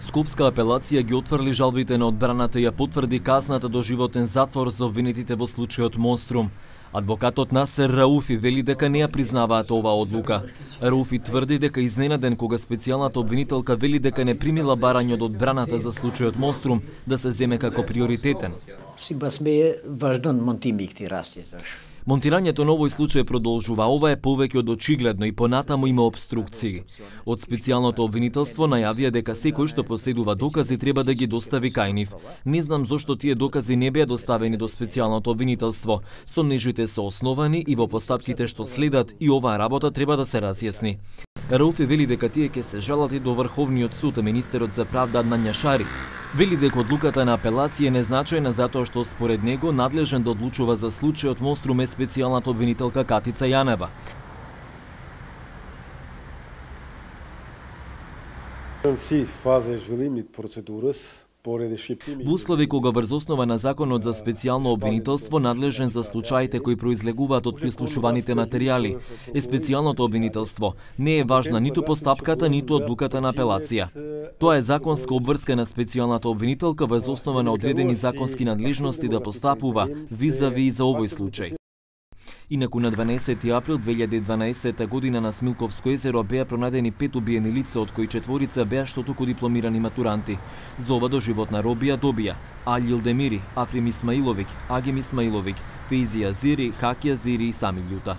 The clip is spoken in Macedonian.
Скопска апелација ги отфрли жалбите на одбраната и ја потврди казната до животен затвор за обвинетите во случајот Монструм. Адвокатот Насер Рауфи вели дека не ја признаваат оваа одлука. Рауфи тврди дека изненаден кога специјалната обвинителка вели дека не примила барање од одбраната за случајот Монструм да се земе како приоритетен. Монтирањето на овој случај продолжува, ова е повеќе од очигледно и понатаму има обструкции. Од специјалното обвинителство најавија дека секој што поседува докази треба да ги достави кај нив. Не знам зошто тие докази не беа доставени до специјалното обвинителство. Сомнежите се основани и во постапките што следат и оваа работа треба да се разјасни. Рауфи вели дека тие ќе се жалат и до Врховниот суд, а министерот за правда Аднан Јашари вели дека одлуката на апелација е незначајна затоа што според него надлежен да одлучува за случајот Монструм е специјалната обвинителка Катица Јанева. Во услови кога врз основа на законот за специјално обвинителство надлежен за случаите кои произлегуваат од прислушуваните материјали е специјалното обвинителство. Не е важна ниту постапката, ниту одлуката на апелација. Тоа е законска обврска на специјалната обвинителка врз основа на одредени законски надлежности да постапува визави и за овој случај. Инаку на 12 април 2012 година на Смилковско езеро беа пронајдени 5 убиени лица, од кои 4 беа штотуку дипломирани матуранти. За ова доживотна робија добија Али Илдемири, Африм Исмаиловиќ, Агим Исмаиловиќ, Фейзи Азири, Хаки Азири и Сами Љута.